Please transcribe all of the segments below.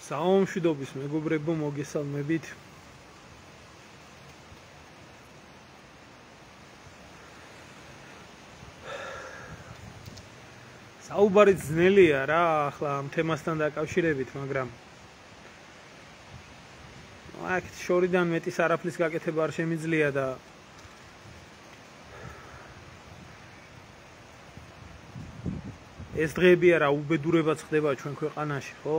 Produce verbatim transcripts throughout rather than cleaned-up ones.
საომშვიდობის მეგობრებო, მოგესალმებით. საუბარი ძნელია რა, ახლა ამ თემასთან დაკავშირებით, მაგრამ აქ შორიდან მეტის არაფრის გაკეთება არ შემიძლია და ეს დღეები არა უბედურებაც ხდება ჩვენ ქვეყანაში, ხო?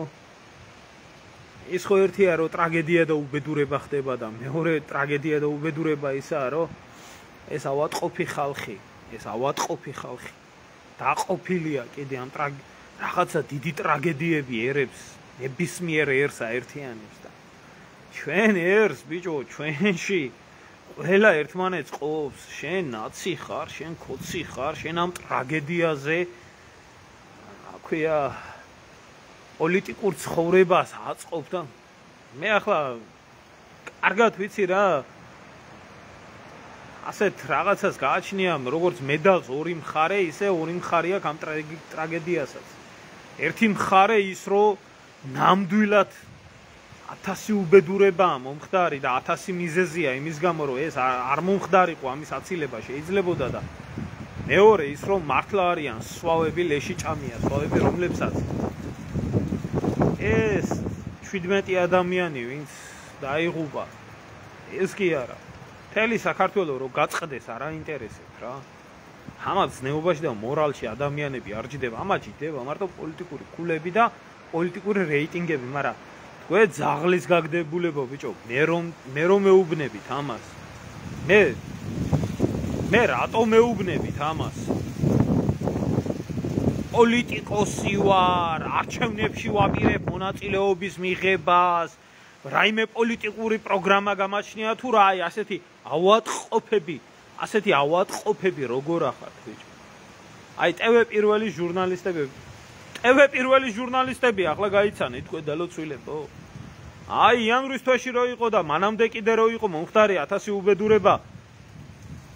ის ხო ერთია რომ ტრაგედია და უბედურება ხდება და მეორე ტრაგედია და უბედურება ისაა რომ ეს ავატყოფი ხალხი, ეს ავატყოფი ხალხი დაყოფილია კიდე ამ რაღაცა დიდი ტრაგედიები ერებს, ნებისმიერ ერს აერთიანებს და ჩვენ ერს ბიჭო, ჩვენში ყველა ერთმანეთს ყოფს, შენ ნაცი ხარ, შენ ქოცი ხარ, შენ ამ ტრაგედიაზე აქვია პოლიტიკურ ცხოვრებას აწყობ და მე ახლა კარგად ვიცი რა ასეთ რაღაცას გააჩნია როგორც მედალს ორი მხარე, ისე ორი მხარე აქვს ამ ტრაგედიასაც. ერთი მხარე ის რომ ნამდვილად ათასი უბედურებაა მომხდარი და ათასი მიზეზია იმის გამო რომ ეს არ მომხდარიყო ამის აცილება შეიძლებოდა და მეორე ის რომ მართლა არიან სვავები ლეში ჭამია, სვავები რომლებსაც ეს შვიდმეტი ადამიანი ვინც დაიღუპა ეს კი არა მთელი საქართველო რომ გაწყდეს არ აინტერესებს რა ამათ ზნეობაში და მორალში ადამიანები არ ჯდება ამათ ჯდება მარტო პოლიტიკური ქულები და პოლიტიკური რეიტინგები მაგრამ თქვენ ძაღლის გაგდებულებო ბიჭო მე რომ მე რომ მეუბნებით ამას მე მე რატო მეუბნებით ამას პოლიტიკოსი ვარ, არჩევნებში ვაპირებ მონაწილეობის მიღებას, რაიმე პოლიტიკური პროგრამა გამაჩნია თუ რა, აი ასეთი ავატყოფები, ასეთი ავატყოფები როგორ ახართ ბიჭო. აი ტევ პირველი ჟურნალისტები, ტევ პირველი ჟურნალისტები ახლა გაიცანით თქვენ დალოცვილებო. აი იანვრის თვეში რო იყო და მანამდე კიდე რო იყო მომხდარი ათასი უბედურება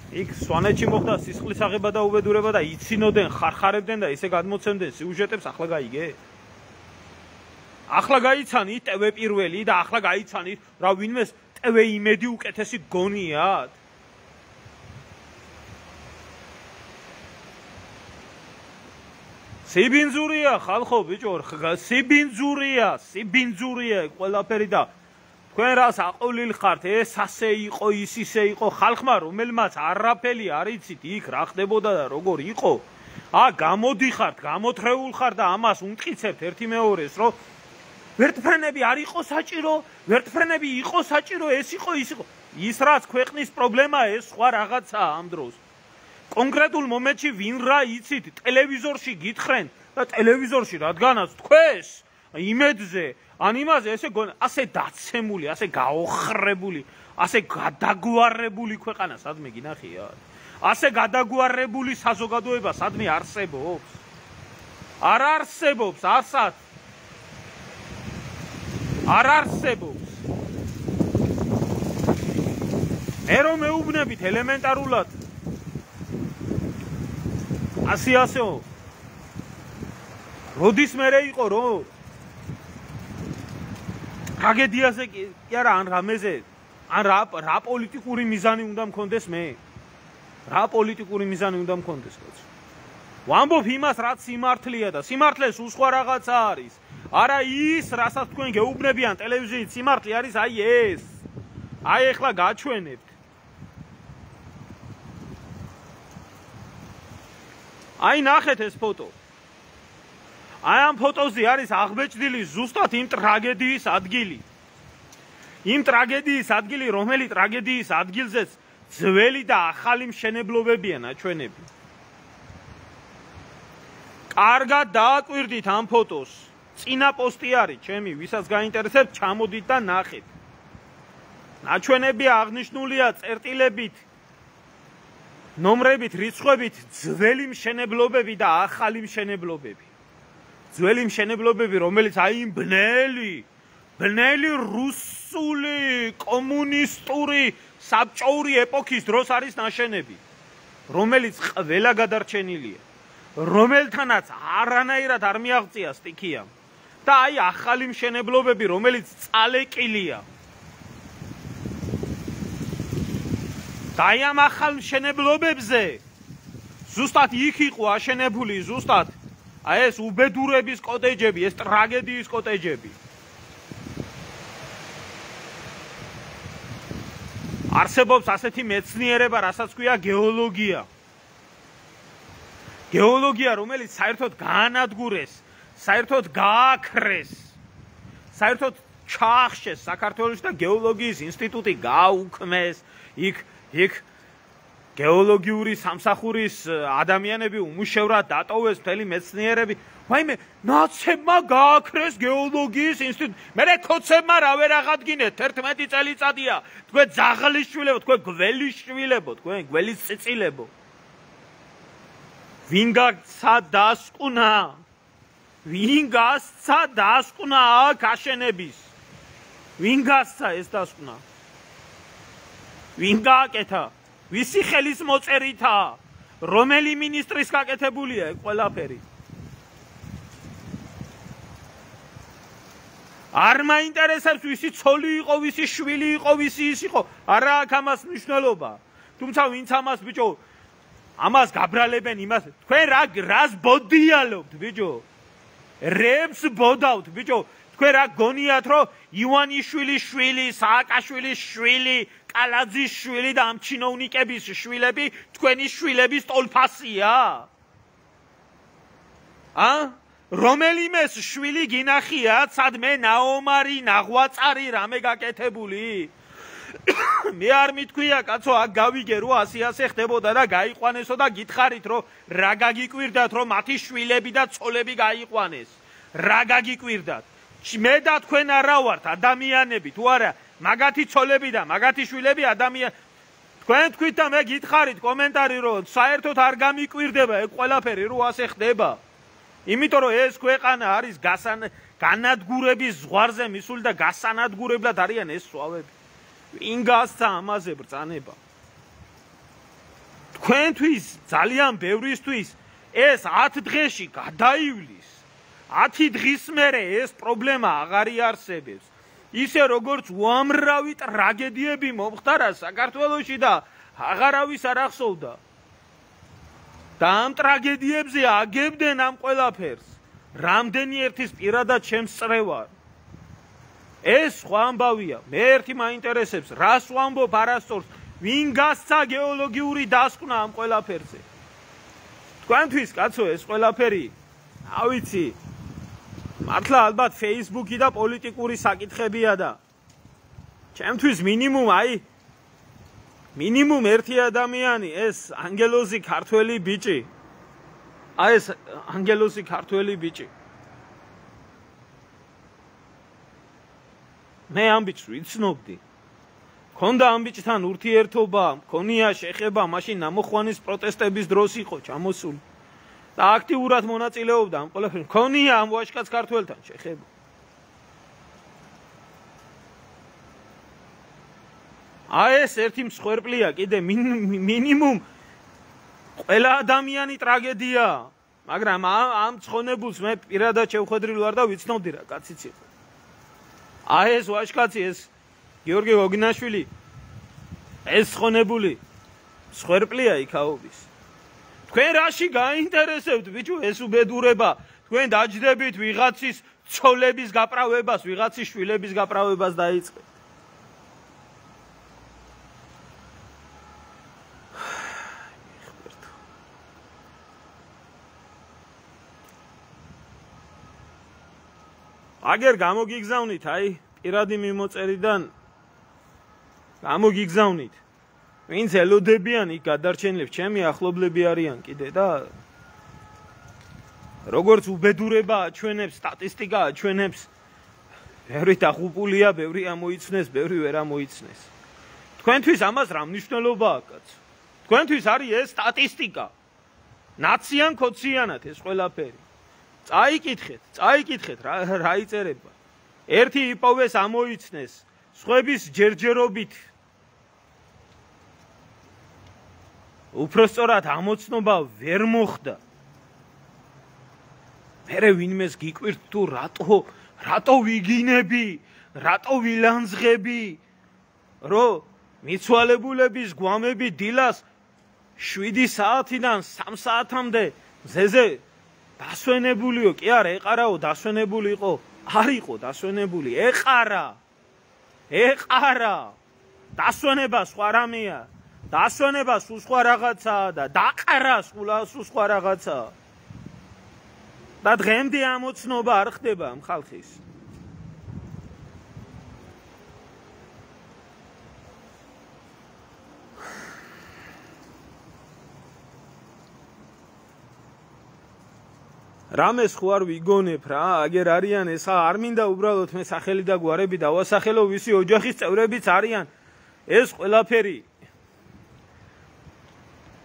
იქ სვანეთში მოხდა სისხლის აღება და უბედურება და იცინოდნენ, ხარხარებდნენ და ისე გადმოცემდნენ სიუჟეტებს ახლა გაიგე? ახლა გაიცანით ტევ პირველი და ახლა გაიცანით რა ვინმეს ტევ იმედი უკეთესი გონიათ? სიბინძურია ხალხო ბიჭო, სიბინძურია, სიბინძურია ყველაფერი და თქვენ რას აყოლილ ხართ, ეს ასე იყო, ის ისე იყო, ხალხმა რომელმაც არაფერი არ იცით იქ რა ხდებოდა და როგორ იყო, ა გამოდიხართ, გამოთრეულ ხართ და ამას უმტკიცებთ ერთი მეორეს, რომ ვერტფრენები არ იყო საჭირო, ვერტფრენები იყო საჭირო, ეს იყო, ის იყო. ის რაც ქვეყნის პრობლემაა, ეს სხვა რაღაცაა ამ დროს. კონკრეტულ მომენტში ვინ რა იცით, ტელევიზორში გითხრენ და ტელევიზორში რადგანაც თქვენს იმედზე ან იმაზე ესე ასე დაცემული, ასე გაოხრებული, ასე გადაგვარებული ქვეყანა სადმე გინახიათ? ასე გადაგვარებული საზოგადოება სადმე არსებობს? არ არსებობს, ასად. არ არსებობს. მე რომ მეუბნებით ელემენტარულად. ასე ასეო. როდის მერე იყო რომ ტრაგედიაზე კი არა ან რამეზე ან რა რა პოლიტიკური მიზანი უნდა მქონდეს მე რა პოლიტიკური მიზანი უნდა მქონდეს კაცო ვამბობ იმას რაც სიმართლეა და სიმართლეს უსხვა რაღაცა არის არა ის რასაც თქვენ გეუბნებიან ტელევიზიით სიმართლე არის აი ეს აი ეხლა გაჩვენებთ აი ნახეთ ეს ფოტო აი ამ ფოტოზე არის აღბეჭდილი ზუსტად იმ ტრაგედიის ადგილი. იმ ტრაგედიის ადგილი, რომელი ტრაგედიის ადგილზეც ძველი და ახალი მშენებლობებია ნაჩვენები. კარგად დააკვირდით ამ ფოტოს. წინა პოსტი არის ჩემი, ვისაც გაინტერესებს, ჩამოდით და ნახეთ. ნაჩვენები აღნიშნულია წერტილებით, ნომრებით, რიცხვებით, ძველი მშენებლობები და ახალი მშენებლობები. ძველი მშენებლობები, რომელიც აი იმ ბნელი, ბნელი რუსული, კომუნისტური, საბჭოური ეპოქის დროს არის ნაშენები, რომელიც ყველა გადარჩენილია, რომელთანაც არანაირად არ მიაღწია სტიქია და აი ახალი მშენებლობები, რომელიც წალეკილია. და აი ამ ახალ მშენებლობებზე ზუსტად იქ იყო აშენებული ზუსტად აი ეს უბედურების კოტეჯები, ეს ტრაგედიის კოტეჯები. არსებობს ასეთი მეცნიერება, რასაც ქვია გეოლოგია. გეოლოგია, რომელიც საერთოდ გაანადგურეს, საერთოდ გააქრეს, საერთოდ ჩაახშეს საქართველოში და გეოლოგიის ინსტიტუტი გააუქმეს, იქ იქ გეოლოგიური სამსახურის ადამიანები უმუშევრად დატოვეს მთელი მეცნიერები. ვაიმე, ნაცებმა გააქრეს გეოლოგიის ინსტიტუტი. მერე ქოცებმა რა ვერ აღადგინეთ, თერთმეტი წელიწადია. თქვენ ძაღლის შვილებო, თქვენ გველის შვილებო, თქვენ გველის წიწილებო. ვინ გასცა დასკუნა? ვინ გასცა დასკუნა აქ აშენების? ვინ გასცა ეს დასკუნა? ვინ გააკეთა? ვისი ხელის მოწერითა? რომელი მინისტრის გაკეთებულია ეს ყველაფერი? არ მაინტერესებს ვისი ცოლი იყო, ვისი შვილი იყო, ვისი ის იყო. არა აქვს ამას მნიშვნელობა. თუმცა ვინც ამას ბიჭო ამას გაბრალებენ იმას, თქვენ რა რას ბოდიალობთ ბიჭო? რებს ბოდავთ ბიჭო? თქვენ რა გონიათ რომ ივანიშვილის შვილი, სააკაშვილის შვილი, კალაძის შვილი და ამ ჩინოვნიკების შვილები თქვენი შვილების ტოლფასია? ა? რომელიმეს შვილი გინახიათ, სადმე ნაომარი, ნაღვაწარი რამე გაკეთებული? მე არ მithქვია კაცო, აქ გავიგე რომ ასე ასე ხდებოდა და გაიყვანესო და გითხარით რომ რა გაგიკვირდათ რომ მათი შვილები და ცოლები გაიყვანეს. რა გაგიკვირდათ? მე და თქვენ არა ვართ ადამიანები თუ არა, მაგათი ცოლები და მაგათი შვილები ადამიან. თქვენ თქვით და მე გითხარით კომენტარი რომ საერთოდ არ გამიკვირდება ეს ყველაფერი რომ ასე ხდება. იმიტომ რომ ეს ქვეყანა არის განადგურების ზღვარზე მისული და გასანადგურებლად არიან ეს სვავები. ვინ გასცა ამაზე ბრძანება? თქვენთვის ძალიან ბევრისთვის ეს ათ დღეში გადაივლის. ათი დღის მერე ეს პრობლემა აღარ იარსებებს. ისე როგორც უამრავი ტრაგედიები მომხდარა საქართველოში და აღარავის არ ახსოვდა. და ამ ტრაგედიებზე აგებდნენ ამ ყველაფერს. რამდენი ერთის პირადად ჩემს წრევარ. ეს სხვა ამბავია. მე ერთი მაინტერესებს, რას ვამბობ არასწორს, ვინ გასცა გეოლოგიური დასკვნა ამ ყველაფერზე. თქვენთვის კაცო ეს ყველაფერი, ავიცი, მართლა ალბათ Facebook-ი და პოლიტიკური საკითხებია და ჩემთვის მინიმუმ აი მინიმუმ ერთი ადამიანი ეს ანგელოზი ქართველი ბიჭი. აი ეს ანგელოზი ქართველი ბიჭი. მე ამ ბიჭს ვიცნობდი. მქონდა ამ ბიჭთან ურთიერთობა, მქონია შეხება, მაშინ ნამოხვანის პროტესტების დროს იყო ჩამოსული. და აქტიურად მონაწილეობდა ამ ყველაფერში. მქონია ამ ვაჟკაც ქართველთან შეხება. აი ეს ერთი მსხვერპლია კიდე მინიმუმ ყველა ადამიანი ტრაგედია. მაგრამ ამ ცხონებულს მე პირადად შევხედრილი ვარ და ვიცნობდი რა კაციც იყო. აი ეს ვაჟკაცი ეს გიორგი გოგინაშვილი ეს ცხონებული მსხვერპლია იქაობის. თქვენ რაში გაინტერესებთ ბიჭო ეს უბედურება? თქვენ დაჯდებით ვიღაცის ცოლების გაправებას, ვიღაცის შვილების გაправებას დაიწყეთ. აგერ გამოგიგზავნით აი პირადი მიმოწერიდან გამოგიგზავნით. ვინც ელოდებიან იქ გადარჩენილებს, ჩემი ახლობლები არიან კიდე და როგორც უბედურება აჩვენებს, სტატისტიკა აჩვენებს, ბევრი დაღუპულია, ბევრი ამოიცნეს, ბევრი ვერ ამოიცნეს. თქვენთვის ამას რა მნიშვნელობა აქვს? თქვენთვის არის ეს სტატისტიკა. ნაციან ქოციანად ეს ყველაფერი. წაიკითხეთ, წაიკითხეთ რა რა იწერება. ერთი იპოვეს ამოიცნეს, სხვების ჯერჯერობით. უფრო სწორად ამოცნობა ვერ მოხდა. მერე ვინმეს გიკვირთ თუ რატო რატო ვიგინები, რატო ვილანძღები, რომ მიცვალებულების გვამები დილას შვიდი საათიდან სამ საათამდე მზეზე დასვენებულიო, კი არა, ეყარაო, დასვენებული იყო, არ იყო დასვენებული, ეყარა, ეყარა, დასვენება სხვა რამეა, დასვენება სულ სხვა რაღაცაა და დაყარა სულ სხვა რაღაცაა. და დღემდე ამოცნობა არ ხდება ამ ხალხის. რამეს ხო არ ვიგონებ რა, აგერ არიან ეს არ მინდა უბრალოდ მე სახელი და გვარები დავასახელო, ვისი ოჯახის წევრებიც არიან. ეს ყველაფერი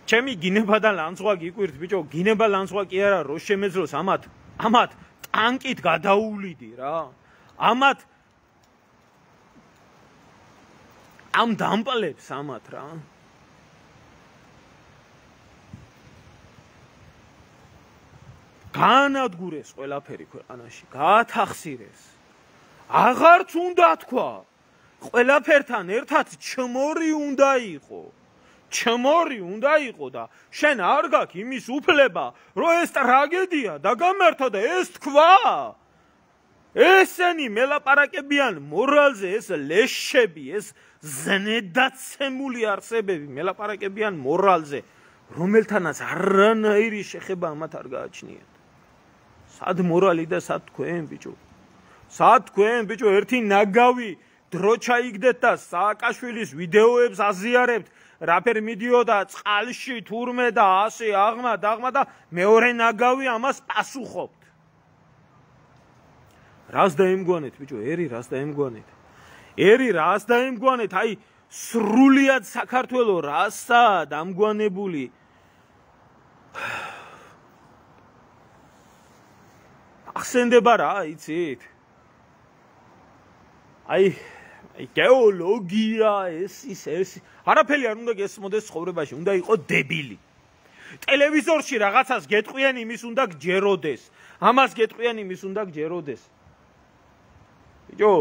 ჩემი გინება და ლანძღვა გიკვირთ ბიჭო, გინება ლანძღვა კი არა, რო შემეძლოს ამათ, ამათ ტანკით გადაუვლიდი რა. ამათ ამ დამპლებს ამათ რა. განადგურეს ყველაფერი ქვეყანაში, გაათახსირეს. აღარც უნდა თქვა, ყველაფერთან ერთად ჩმორი უნდა იყო. ჩმორი უნდა იყო და შენ არ გაქვს იმის უფლება, რომ ეს ტრაგედია დაგამართა და ეს თქვა. ესენი მელაპარაკებიან მორალზე, ეს ლეშები, ეს ზნედაცემული არსებები მელაპარაკებიან მორალზე, რომელთანაც არანაირი შეხება ამათ არ გააჩნიათ. სად მორალი და სად თქვენ ბიჭო? სად თქვენ ბიჭო, ერთი ნაგავი დრო ჩაიგდეთ და სააკაშვილის ვიდეოებს აზიარებთ, რაფერ მიდიოდა წყალში თურმე და ასე აღმა დაღმა და მეორე ნაგავი ამას პასუხობთ. რას დაემგვანეთ ბიჭო, ერი რას დაემგვანეთ? ერი რას დაემგვანეთ? აი სრულიად საქართველო რასაა დამგვანებული? ახსენდება რა, იცით? აი აი გეოლოგია, ეს ის ეს არაფერი არ უნდა გესმოდეს ცხოვრებაში, უნდა იყოს დებილი. ტელევიზორში რაღაცას გეტყვიან, იმის უნდა გჯეროდეს. ამას გეტყვიან, იმის უნდა გჯეროდეს. ბიჭო,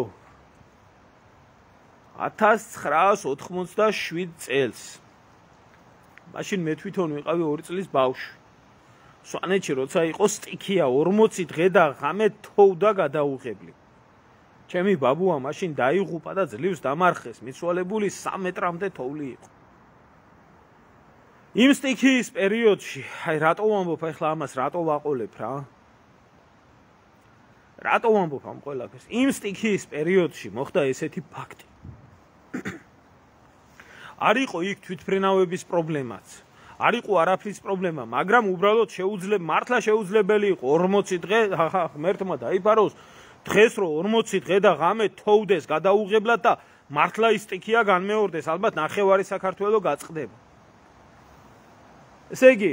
ათას ცხრაას ოთხმოცდაშვიდ წელს. მაშინ მე თვითონ ვიყავი ორი წლის ბავშვი. სვანეთში როცა იყო სტიქია ორმოცი დღე და ღამე თოვდა გადაუღებლი. ჩემი ბაბუა მაშინ დაიღუპა და ძლივს დამარხეს, მიცვალებული სამ მეტრამდე თოვლი იყო. იმ სტიქიის პერიოდში, აი რატო ვამბობ ახლა ამას, რატო ვაყოლებ რა? რატო ვამბობ ამ ყველაფერს? იმ სტიქიის პერიოდში მოხდა ესეთი ფაქტი. არ იყო იქ თვითმფრინავების პრობლემაც. არ იყო არაფრის პრობლემა, მაგრამ უბრალოდ შეუძლებ მართლა შეუძლებელი იყო ორმოცი დღე ღმერთმა დაიფაროს დღეს რო ორმოცი დღე და ღამე თოვდეს გადაუღებლად და მართლა ის სტიქია განმეორდეს, ალბათ ნახევარი საქართველო გაწყდება. ესე იგი,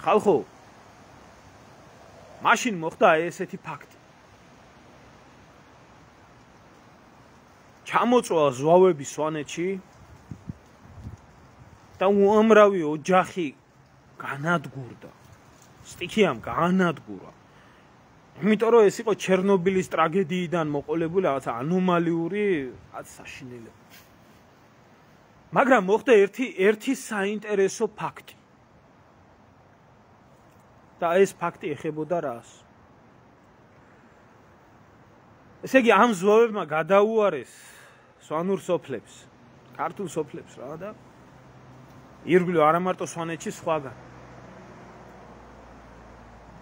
ხალხო, მაშინ მოხდა ესეთი ფაქტი. ჩამოწვა ზვავები სვანეთში და უამრავი ოჯახი განადგურდა. სტიქიამ განადგურა. იმიტომ რომ ეს იყო ჩერნობილის ტრაგედიიდან მოყოლებული რაღაცა ანომალიური რაც საშინელება. მაგრამ მოხდა ერთი ერთი საინტერესო ფაქტი. და ეს ფაქტი ეხებოდა რას? ესე იგი ამ ზვავებმა გადაუარეს სვანურ სოფლებს, ქართულ სოფლებს რა და ირგვლივ არა მარტო სვანეთში სხვაგან.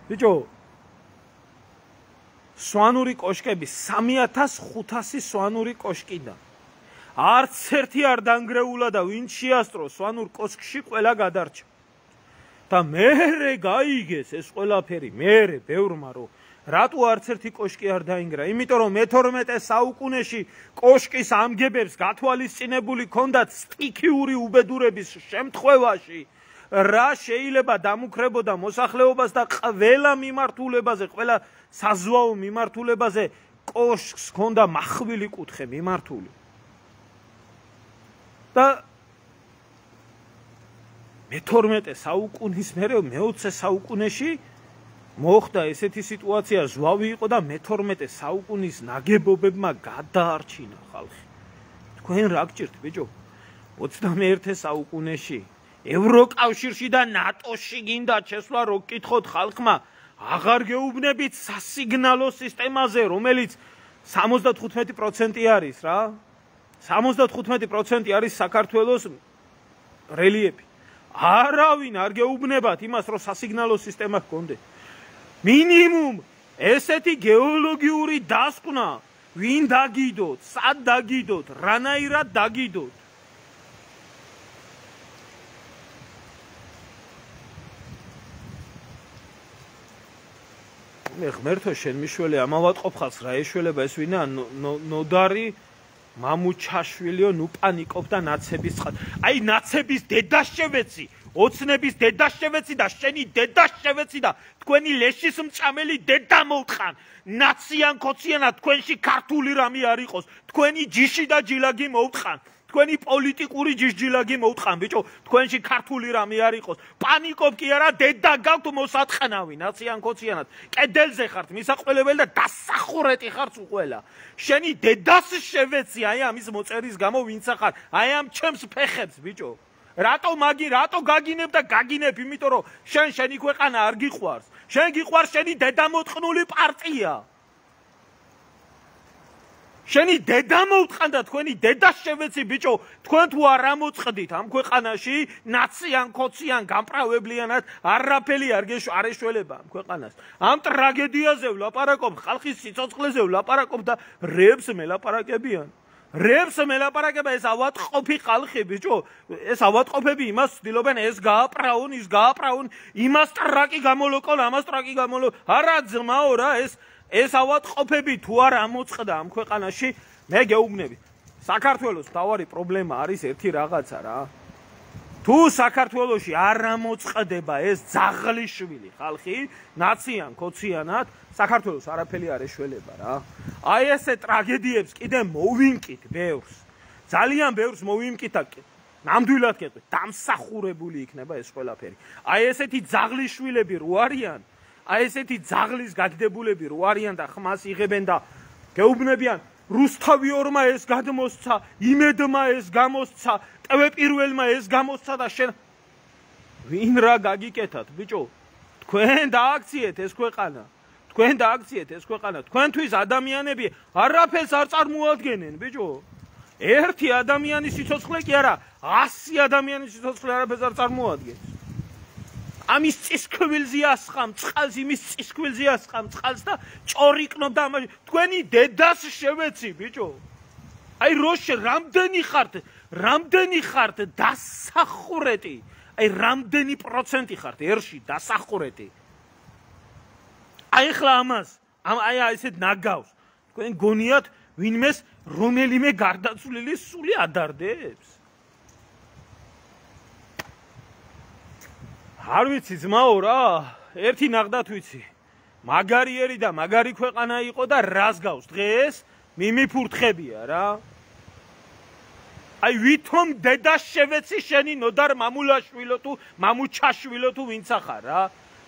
ბიჭო, სვანური კოშკები სამი ათას ხუთასი სვანური კოშკიდან. არც ერთი არ დანგრეულა და ვინც შეასწრო სვანურ კოშკში ყველა გადარჩა. და მერე გაიგეს ეს ყველაფერი, მერე ბევრმა რომ რატო არც ერთი კოშკი არ დაინგრა? იმიტომ რომ მეთორმეტე საუკუნეში კოშკის ამგებებს გათვალისწინებული ჰქონდათ სტიქიური უბედურების შემთხვევაში რა შეიძლება დამუქრებოდა მოსახლეობას და ყველა მიმართულებაზე, ყველა საზღვაო მიმართულებაზე კოშკს ჰქონდა მახვილი კუთხე მიმართული. და მეთორმეტე საუკუნის მერე მეოცე საუკუნეში მოხდა ესეთი სიტუაცია, ზვავი იყო და მეთორმეტე საუკუნის ნაგებობებმა გადაარჩინა ხალხი. თქვენ რა გჭირთ, ბიჭო? ოცდამეერთე საუკუნეში ევროკავშირში და ნატოში გინდა შესვლა, რო გკითხოთ ხალხმა, აღარ გეუბნებით სასიგნალო სისტემაზე, რომელიც სამოცდათხუთმეტი პროცენტი არის რა. სამოცდათხუთმეტი პროცენტი არის საქართველოს რელიეფი. არავინ არ გეუბნებათ იმას, რომ სასიგნალო სისტემა ჰქონდეთ. მინიმუმ ესეთი გეოლოგიური დასკვნა, ვინ დაგიდოთ, სად დაგიდოთ, რანაირად დაგიდოთ. მე ღმერთო შენ მიშველი ამავატყოფ ხალხს რა ეშველება ეს ვინა ნოდარი მამუჩაშვილიო ნუ პანიკობდა ნაცების წყალ. აი ნაცების დედას შევეცი, ოცნების დედას შევეცი და შენი დედას შევეცი და თქვენი ლეშის მწამელი დედა მოვტყან. ნაციან ქოციანად თქვენში ქართული რამე არ იყოს. თქვენი ჯიში და ჯილაგი მოვტყან. თქვენი პოლიტიკური ჯიჟჯილაგი მოვტყან, ბიჭო, თქვენში ქართული რამე არ იყოს. პანიკობ კი არა, დედა გაქვთ მოსატყნავი, ნაციან ქოციანად. კედელზე ხართ მისაყველებელი და დასახურეტი ხართ უყველა. შენი დედას შევეცი, აი ამის მოწერის გამო ვინც ახარ, აი ამ ჩემს ფეხებს, ბიჭო. რატო მაგი, რატო გაგინებ და გაგინებ, იმიტომ რომ შენ შენი ქვეყანა არ გიყვარს. შენ გიყვარს შენი დედამოტყნული პარტია. შენი დედა მოვტყან და თქვენი დედას შევეცი, ბიჭო, თქვენ თუ არ ამოწყდით ამ ქვეყანაში ნაციან ქოციან გამправებლიანად არაფერი არ ეშველება ამ ქვეყანას. ამ ტრაგედიაზე ვლაპარაკობ, ხალხის სიცოცხლეზე ვლაპარაკობ და რებს მელაპარაკებიან. რებს მელაპარაკება ეს ავატყოფი ხალხი, ბიჭო, ეს ავატყოფები იმას ცდილობენ, ეს გააპრაუნ, ის გააპრაუნ, იმას ტრაკი გამოლოკონ, ამას ტრაკი გამოლო. არა ძმაო რა, ეს ეს ავატყოფები თუ არ ამოწყდა ამ ქვეყანაში, მე გეუბნები. საქართველოს მთავარი პრობლემა არის ერთი რაღაცა რა. თუ საქართველოში არ ამოწყდება ეს ძაღლიშვილი ხალხი, ნაციან ქოციანად, საქართველოს არაფერი არ ეშველება რა. აი ესე ტრაგედიებს კიდე მოვიმკით ბევრს. ძალიან ბევრს მოვიმკით და ნამდვილად გეტყვით, დამსახურებული იქნება ეს ყველაფერი. აი ესეთი ძაღლიშვილები რო არიან, აი ესეთი ძაღლის გაგდებულები რო არიან და ხმას იღებენ და გეუბნებიან, რუსთავი ორმა ეს გადმოსცა, იმედმა ეს გამოსცა, ტვეპირველმა ეს გამოსცა და შენ ვინ რა გაგიკეთათ, ბიჭო? თქვენ დააქციეთ ეს ქვეყანა. თქვენ დააქციეთ ეს ქვეყანა. თქვენთვის ადამიანები არაფერს არ წარმოადგენენ, ბიჭო. ერთი ადამიანის სიცოცხლე კი არა, ასი ადამიანის სიცოცხლე არაფერს არ წარმოადგენს. ამის წისქვილზე ასხამ წყალს, იმის წისქვილზე ასხამ წყალს და ჭორიკნობ და ამაში თქვენი დედას შევეცი, ბიჭო. აი როშე რამდენი ხართ, რამდენი ხართ დასახურეტი, აი რამდენი პროცენტი ხართ ერში დასახურეტი. აი ხლა ამას, ამ აი ესეთ ნაგავს. თქვენ გონიათ ვინმეს რომელიმე გარდაცვლილი სული ადარდებს? არ ვიცი ძმაო რა, ერთი ნახდათ ვიცი. მაგარიერი და მაგარი ქვეყანა იყო და რას გავს დღეს მიმიფურთხებია რა. აი ვითომ დედას შევეცი შენი ნოდარ მამულაშვილო თუ მამუჩაშვილო თუ ვინც ახარ რა.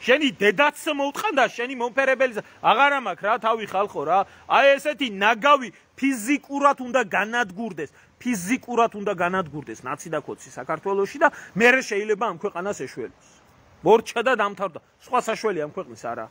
შენი დედაც მოუტყან და შენი მომფერებელს აღარ ამაქვს რა თავი ხალხო რა. აი ესეთი ნაგავი ფიზიკურად უნდა განადგურდეს. ფიზიკურად უნდა განადგურდეს ნაცი და ქოცი საქართველოში და მე შეიძლება ამ ქვეყანას ეშველოს. მორჩა და დამთავრდა. სხვა საშველი ამ ქვეყნის არა.